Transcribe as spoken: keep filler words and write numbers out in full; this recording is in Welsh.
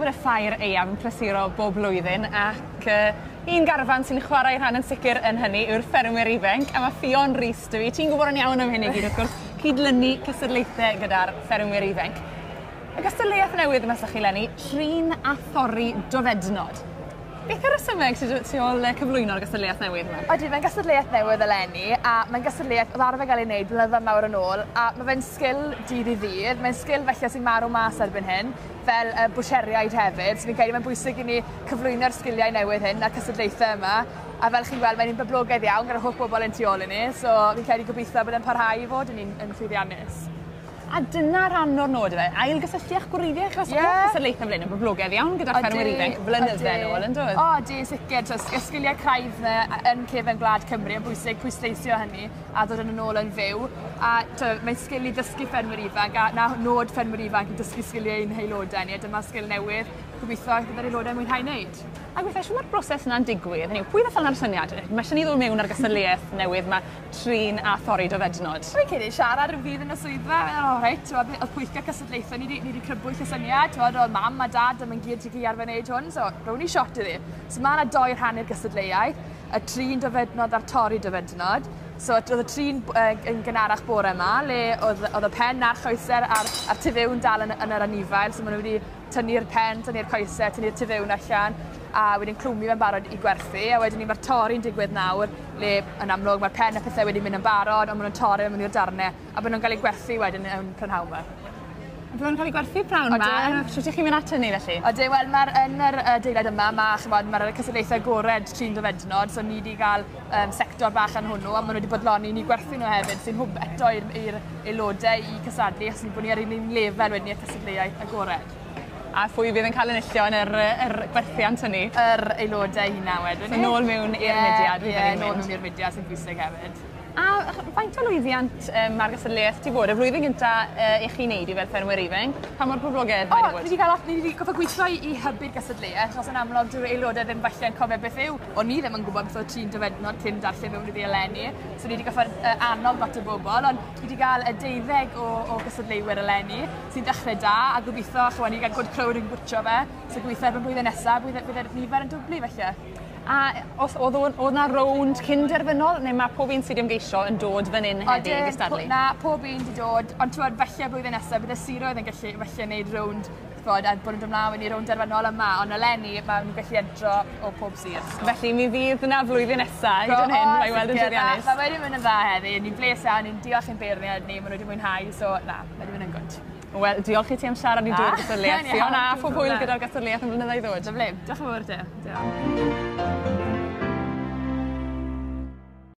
bod y ffair aeaf yn prysuro bob blwyddyn ac uh, un garfan sy'n chwarae rhan yn sicr yn hynny yw'r ffermwyr ifanc, a mae Ffion Rees 'da fi. Ti'n gwybod yn iawn am hyn i gyd, wrth gwrs, cydlynu cystadlaethau gyda'r ffermwyr ifanc. Y gystadleuaeth newydd yma sy 'da chi 'leni, trin a thorri dofednod. Beth yw'r rhesymeg sydd tu ôl cyflwyno'r gystadleuaeth newydd yma? Odi, mae'n gystadleuaeth newydd eleni, a mae'n gystadleuaeth oedd arfer gael ei wneud blynyddoedd mawr yn ôl, a mae fe'n sgil dydd i ddydd, mae'n sgil felly sy'n marw mas erbyn hyn, fel uh, bwtsieriaid hefyd, so fi'n credu mae'n bwysig i ni cyflwyno'r sgiliau newydd hyn a'r cystadlaethau yma, a fel chi'n gweld mae'n un boblogaidd iawn gyda'r holl bobl yn tu ôl i ni, so fi'n credu gobeithio bod e'n parhau i fod yn un yn llwyddiannus. A dyna rhan o'r nod yfe, ailgysylltu â'ch gwreiddiau, achos yeah. Oedd cystadlaethau fel hyn yn boblogaidd iawn gyda'r ffermwyr ifanc blynydde nôl, yn dod? O, di, sicr. Y sgiliau craidd yna yn cefen gwlad Cymru yn bwysig pwysleisio hynny a dod yn ôl yn fyw. A mae'n sgil i ddysgu ffermwyr ifanc, a na nod ffermwyr ifanc yn dysgu sgiliau ein haelodau ni, a dyma sgil newydd, gobeithio bydd yr aelodau mwynhau wneud. A gweithio, siwr mae'r broses yna'n digwydd, hynny yw, pwy ddath allan â'r syniad? Mae eisiau ni ddod mewn ar gystadleuaeth newydd mae trin a thorri dofednod. Fi'n credu siarad rhyw ddydd yn y swyddfa, o reit, oedd pwyllgor cystadlaethau, ni wedi crybwyll y syniad, oedd mam a dad am yn gyd i arfer wneud hwn, so rown ni shot iddi. So mae yna doi rhan i'r gystadleuaeth, y trin dofednod a'r torri dofednod. So oedd y trin uh, yn gynharach bore yma, le oedd, oedd y pen a'r choesau a'r, a'r tu fewn dal yn, yn yr anifail, so maen nhw wedi tynnu'r pen, tynnu'r coesau, tynnu'r tu fewn allan, a wedyn clwmu fe'n barod i gwerthu, a wedyn ni mae'r torri'n digwydd nawr, le yn amlwg mae'r pen a pethau wedi mynd yn barod, ond maen nhw'n torri mewn i'r darnau, a maen nhw'n cael eu gwerthu wedyn yn prynhawn yma. Byddwn nhw'n cael eu gwerthu prynhawn yma? Sut ych chi'n mynd at hynny felly? Ydyn, wel mae'r yn yr adeilad yma, mae, chymod, mae'r cystadlaethau agored trin dofednod, so ni wedi cael um, sector bach yn hwnnw, a maen nhw wedi bodloni ni gwerthu nhw hefyd, sy'n hwb eto i'r aelodau i cystadlu, achos ni bod ni ar un un lefel wedyn i'r cystadleuaeth agored. A phwy fydd yn cael enillion yr, yr gwerthiant hynny? Yr aelodau hynna wedyn. So nôl mewn i'r yeah, mudiad. Ie, yeah, nôl mewn i'r mudiad sy'n bwysig hefyd. A faint o lwyddiant um, mae'r gystadleuaeth ti bod? Y flwyddyn gynta uh, i chi wneud i fel ffermwyr ifanc, pa mor poblogaidd mae wedi bod? O, ni wedi cael, ni wedi gorfod gweithio i, i hybu'r gystadleuaeth, achos yn amlwg dyw'r aelodau ddim falle yn cofio beth yw. O'n i ddim yn gwybod beth oedd trin dofednod cyn darllen mewn iddi eleni, so ni wedi gorfod uh, annog lot o bobl, ond ni wedi cael y deuddeg o, o gystadleuwyr eleni, sy'n dechrau da, a gobeithio, chwa, ni wedi cael good crowd yn gwtio fe, so gobeithio erbyn blwyddyn nesaf, bydd, bydd y nifer yn dwblu felly. A os oedd oedd 'na rownd cyn-derfynol, neu mae pob un sydd wedi ymgeisio yn dod fan hyn heddi i gystadlu? Na, pob un wedi dod, ond ti'n gwbod, falle blwyddyn nesaf bydd y siroedd yn gallu falle wneud rownd, bod, a bod yn dod ymlaen i rownd derfynol yma, ond eleni mae nhw'n gallu entro o pob sir. So. Felly mi fydd yna flwyddyn nesaf, hyd yn hyn, mae weld yn llwyddiannus. Mae wedi mynd yn dda heddi, ni'n bles iawn, ni'n diolch i'n beirniaid ni, maen nhw wedi mwynhau, so na, mae wedi mynd yn gwd. Wel, diolch i ti am siarad i drwy'r gystadleuaeth. Fiona, a phob hwyl gyda'r gystadleuaeth yn blynyddoedd i ddod. Lyfli, diolch yn fawr ti. Diolch.